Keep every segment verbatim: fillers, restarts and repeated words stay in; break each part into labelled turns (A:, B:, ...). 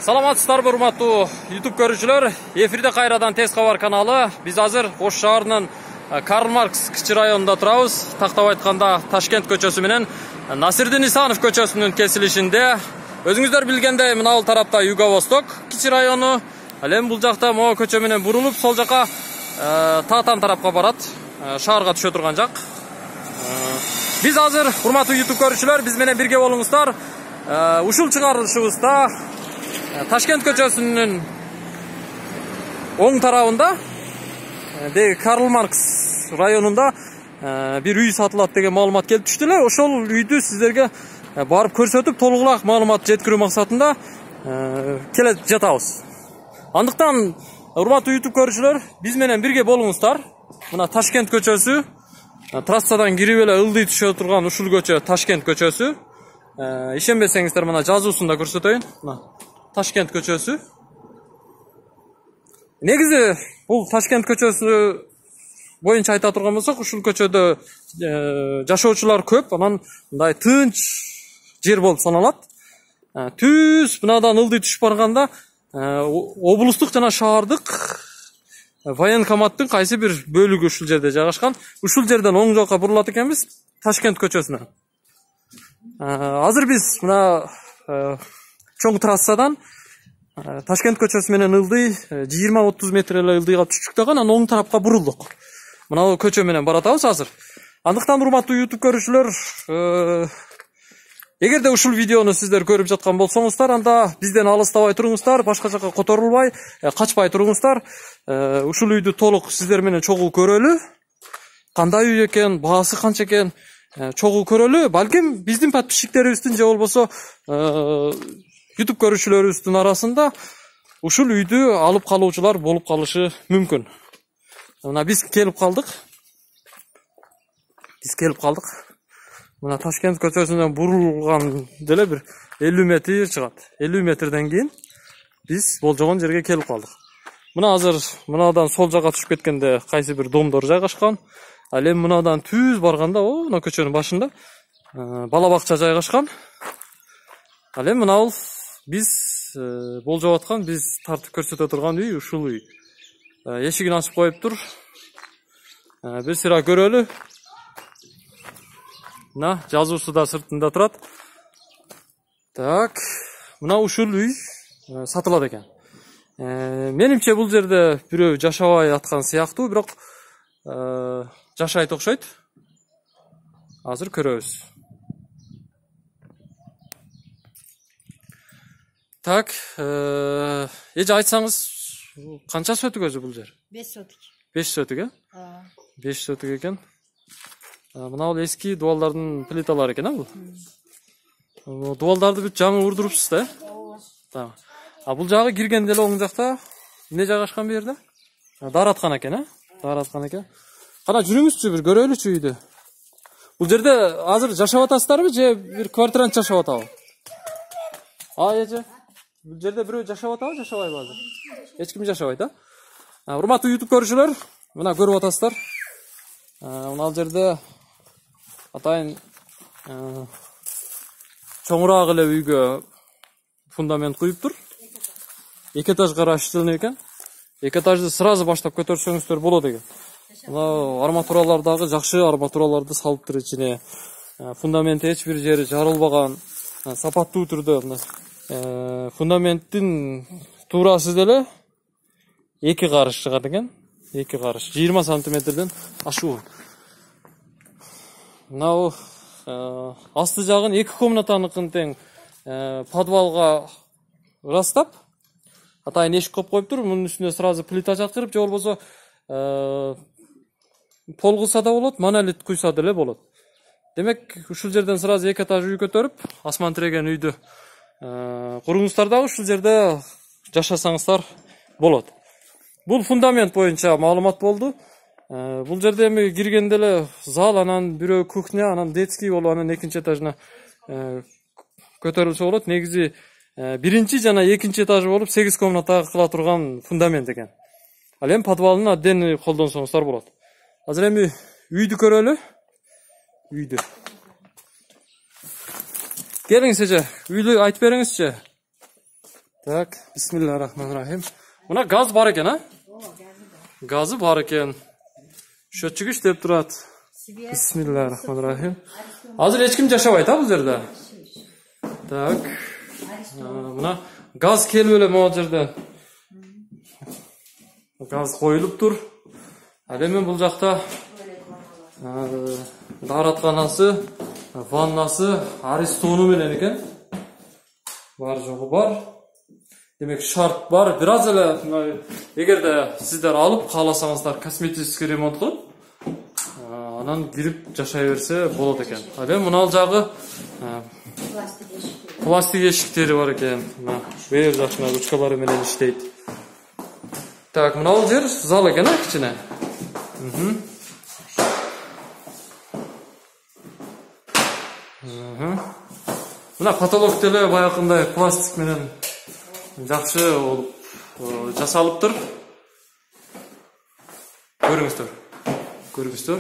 A: Саламатсыздарбы, урматтуу YouTube көрүүчүлөр. Эфирде кайрадан Тез кабар каналы. Биз азыр Ош шаарынын Карл Маркс кичи районунда турабыз. Тактап айтканда Ташкент көчөсү менен Насирдин Исанов көчөсүнүн кесилишинде. Өзүңүздөр билгендей, мына бул тарапта Юго-Восток кичи району. Ал эми бул жакта могу көчө менен бурулуп, сол жака Таатан тарапка барат. Шаарга түшө турган жак. Биз азыр, урматтуу YouTube көрүүчүлөр, биз менен бирге болуңуздар. Ушул чыгарылышыбызда Ташкент көчөсүнүн оң тарабында деги Карл Маркс районунда бир үй сатылат деген маалымат келип түштү эле. Ошол үйдү сиздерге барып көрсөтүп, толугураак маалымат жеткирүү максатында келе жатабыз. Андыктан, урматтуу YouTube көрүүчүлөр, биз менен бирге болуңуздар. Мына Ташкент көчөсү, трассадан кирип эле ылдый түшө турган ушул көчө Ташкент көчөсү. Ишенбесеңиздер, мына жазуусунда көрсөтөйүн. Мына Ташкент көчөсү. Негизи бул Ташкент көчөсү боюнча айта турган болсок, ушул көчөдө жашоочулар көп, анан мындай тынч жер болуп саналат. Түз мынадан ылдый түшүп барганда облустук жана шаардык военкоматтын кайсы бир бөлүгү ушул жерде жайгашкан. Ушул жерден оң жакка бурулат экенбиз, Ташкент көчөсүнө. Азыр биз мына чоң трассадан Ташкент көчөсү менен ылдый жыйырма отуз метр эле ылдыйга түштүк дагы, анан оң тарапка бурулдук. Мына бул көчө менен баратабыз азыр. Андыктан, урматтуу YouTube көрүүчүлөр, эгерде ушул видеону сиздер көрүп жаткан болсоңуздар, анда бизден алыстабай туруңуздар, башка жака которулбай, качпай туруңуздар. Ушул үйдү толук сиздер менен чогуу көрөлү. Кандай үй экен, баасы канча экен, чогуу көрөлү. Балким биздин подписчиктерибиздин же болбосо YouTube көрүүчүлөрүбүздүн арасында ушул үйдү алып калуучулар болуп калышы мүмкүн. Мына биз келип калдык. Биз келип калдык. Мына Ташкент көчөсүнөн бурулган деле бир элүү метр чыгат. элүү метрден кийин биз болжогон жерге келип калдык. Мына азыр мынадан сол жака түшүп кеткенде кайсы бир домдор жайгашкан. Ал эми мынадан түз барганда, о, мына көчөнүн башында бала бакча жайгашкан. Ал эми мына бул биз болжоп аткан, биз тартып көрсөтө турган үй ушул үй. Эшигин ачып коюптур. Бир сыра көрөлү. Мына жазуусу да сыртында турат. Так, мына ушул үй сатылат экен. Менимче бул жерде бирөө жашабай аткан сыяктуу, бирок жашайт окшойт. Азыр көрөбүз. Так, эже айтсаңыз, канча сотук өзү бул жер?
B: беш сотук.
A: беш сотук, э? беш сотук экен. Мына бул эски дубалдардын плиталары экен, а бул? Дубалдарды бүт жаңы урдурупсуз да, э? Ооба. А бул жагы киргенде эле оң жакта эмне жайгашкан бу жерде? Даараткана экен, э? Даараткана экен. Кана жүрүңүзчү, бир көрөлүчү үйдү. Бул жерде азыр жашап атасыздарбы же бир квартирант жашап атабы? А, эже? Бул жерде бирөө жашап атабы, жашабайбы азыр? Эч ким жашабайт, а? Урматтуу YouTube көрүүчүлөр, мына көрүп атасыздар. Мына ал жерде атайын чоңураак эле үйгө фундамент куюптур. Эки этаж гараж иштелген экен. Эки этажды сразу баштап көтөрсөңүздөр болот экен. Мына арматуралар дагы жакшы арматураларды салыптыр ичине. Фундаменти эч бир жери жарылбаган, сапаттуу түрдө мына фундаменттин туурасы деле эки карыш чыгат экен. эки карыш, жыйырма сантиметрден ашуу. Мына асты жагын эки комнатаныкын тең подвалга ырастап, атайын эшик коюп коюптур. Мунун үстүнө сразу плита жаткырып, же болбосо пол кылса да болот, монолит куйса деле болот. Демек, ушул жерден сразу эки этаж үй көтөрүп, асман тиреген үйдү куруңуздар дагы ушул жерде жашасаңыздар болот. Бул фундамент боюнча маалымат болду. Бул жерде эми киргенде эле зал, анан бирөө кухня, анан детский болуп, анан экинчи этажына көтөрүлсө болот. Негизи биринчи жана экинчи этажы болуп сегиз комната кыла турган фундамент экен. Ал эми подвалын отдельный колдонсоңуздар болот. Азыр эми үйдү көрөлү. Үйдү. Келиңиз эже, үйлү айтып бериңизчи. Так, бисмиллахиррахманиррахим. Мына газ бар экен, а? Газы бар экен. Счетчик иштеп турат. Бисмиллахиррахманиррахим. Азыр эч ким жашабайт, а бул жерде? Так. Мына газ келип эле могу жерден. Газ коюлуп тур. Ал эми бул жакта дааратканасы, ваннасы, аристону менен экен. Бар жогу бар. Демек шарт бар. Бир аз эле эгерде сиздер алып кааласаңыздар косметический ремонт кылып, анан кирип жашай берсе болот экен. Ал эми мына жагы пластик эшиктери бар экен. Мына бер жакына ручкалары менен иштейт. Так, мына бул жер зал экен, а, кичине. Мхм. Мхм. Мына потолок деле баягындай пластик менен жакшы болуп жасалыптыр. Көрүңүздөр. Көрүңүздөр.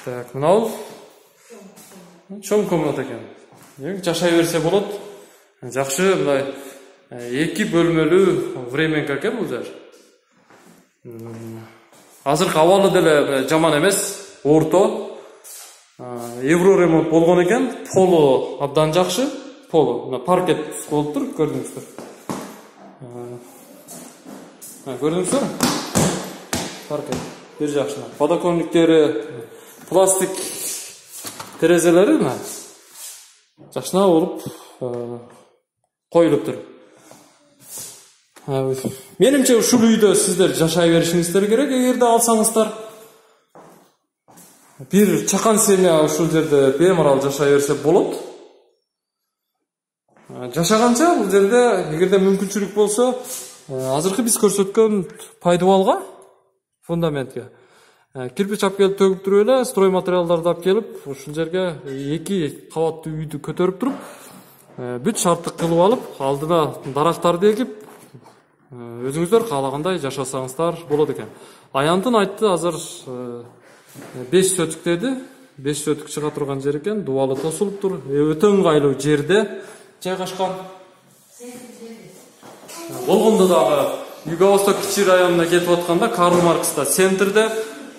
A: Так, мына бул чоң комната экен. Жашай берсе болот. Жакшы мындай эки бөлмөлүү временка экен бул жер. Азыркы абалы деле жаман эмес, орто. Евро ремонт болгон экен, полу абдан жакшы. Полу, мына паркет болуп тур, көрдүңүздөр. Көрдүңүздөр? Паркет бир жакшына. Подоконниктери, пластик терезелери мына жакшына болуп коюлуптур. Менимче ушул үйдө сиздер жашай беришиңиздер керек, эгерде алсаңыздар. Бир чакан семья ушул жерде бемарал жашай берсе болот. Жашаганча бул жерде эгерде мүмкүнчүлүк болсо, азыркы биз көрсөткөн пайдубалга, фундаментке кирпич алып келип төгүп туруп эле, строй материалдарды алып келип, ушул жерге эки кабаттуу үйдү көтөрүп туруп, бүт шарттык кылып алып, алдына дарактарды эгип, өзүңүздөр каалагандай жашасаңыздар болот экен. Аянтын айтты, азыр беш сөтүк деди. беш сөтүк чыга турган жер экен, дубалы тосулуп тур. Өтө ыңгайлуу жерде жайгашкан. Болгондо дагы Юго-Восток кичи районуна кетип атканда, Карл Маркста центрде,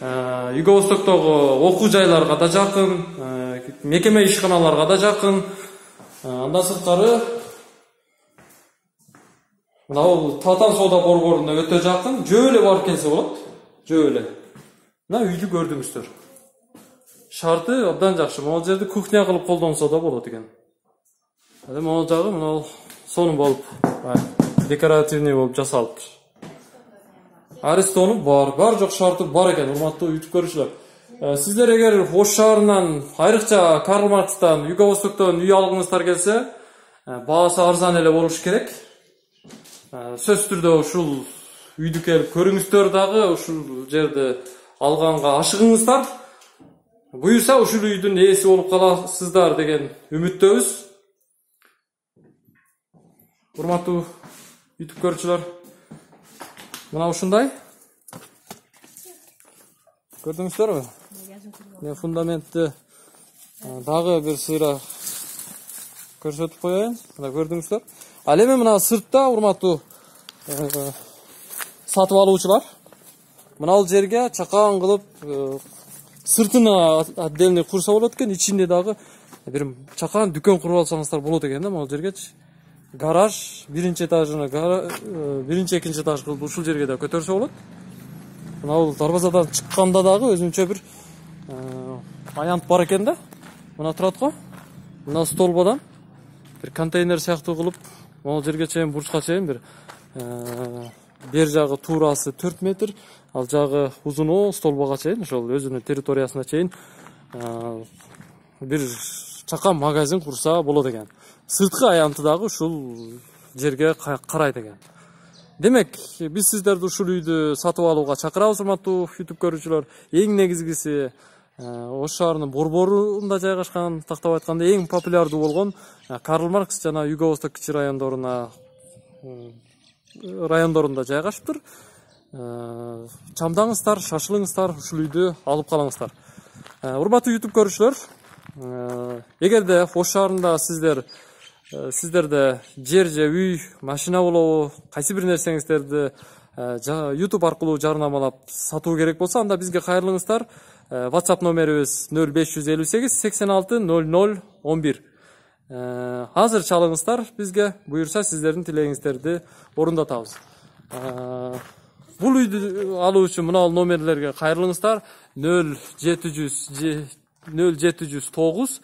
A: Юго-Востоктогу окуу жайларга да жакын, мекеме ишканаларга да жакын. Андан сырткары мына бул Татан соода борборуна өтө жакын, жөө эле барып келсе болот. Жөө эле. Мына үйдү көрдүңүздөр. Шарты абдан жакшы. Могу жерди кухня кылып колдонсо да болот экен. Эми могу жагы мына сонун болуп, декоративный болуп жасалыптыр. Аристону бар, бар жок шарты бар экен, урматтуу YouTube көрүүчүлөр. Сиздер эгер Ош шаарынан, айрыкча Карл Маркстан, Юго-Востоктон үй алгыңыздар келсе, баасы арзан эле болуш керек. Сөзсүз түрдө ушул үйдү келип көрүңүздөр дагы, ушул жерди алганга ашыгыңыздар. Буюрса ушул үйдүн ээси болуп каласыздар деген үмүттөбүз. Урматтуу YouTube көрүүчүлөр, мына ушундай. Көрдүңүздөрбү? Мен фундаментти дагы бир сыйра көрсөтүп коеюн. Мына көрдүңүздөр. Ал эми мына сыртта, урматтуу сатып алуучулар, мына бул жерге чакан кылып сыртына отдельный курса болот экен, ичинде дагы бир чакан дүкөн куруп алсаңыздар болот экен да, могу жергечи. Гараж биринчи этажына, биринчи экинчи этаж кылып ушул жерге да көтөрсө болот. Мына бул дарбазадан чыкканда дагы өзүнчө бир аянт бар экен да. Мына турат го. Мына столбадан бир контейнер сыяктуу кылып, могу жерге чейин, бурчка чейин бир бер жагы туурасы төрт метр, ал жагы узуну столбага чейин, ошол өзүнүн территориясына чейин бир чакан магазин курса болот экен. Сырткы аянты дагы ушул жерге карайт экен. Демек, биз сиздерди ушул үйдү сатып алууга чакырабыз, урматтуу YouTube көрүүчүлөр. Эң негизгиси Ош шаарынын борборунда жайгашкан, тактап айтканда эң популярдуу болгон Карл Маркс жана Юго-Восток кичи райондоруна райондорунда жайгашыптыр. Чамдаңыздар, шашылыңыздар, ушул үйдү алып калыңыздар. Урматтуу YouTube көрүүчүлөр, эгерде Ош шаарында сиздер сиздерде жер же үй, машина болобу, кайсы бир нерсеңиздерди YouTube аркылуу жарнамалап сатуу керек болсо, анда бизге кайрылыңыздар. WhatsApp номерибиз нөл беш жүз элүү сегиз сексен алты нөл нөл он бир. Азыр чалыңыздар, бизге буюрса сиздердин тилегиңиздерди орундатабыз. Бул үйдү алуу үчүн мына бул номерлерге кайрылыңыздар. нөл жети жүз тогуз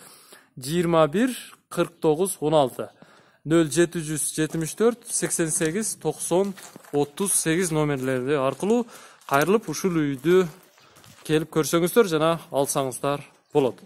A: жыйырма бир кырк тогуз он алты нөл жети жүз жетимиш төрт сексен сегиз токсон отуз сегиз номерлери аркылуу кайрылып ушул үйдү келип көрсөңүздөр жана алсаңыздар болот.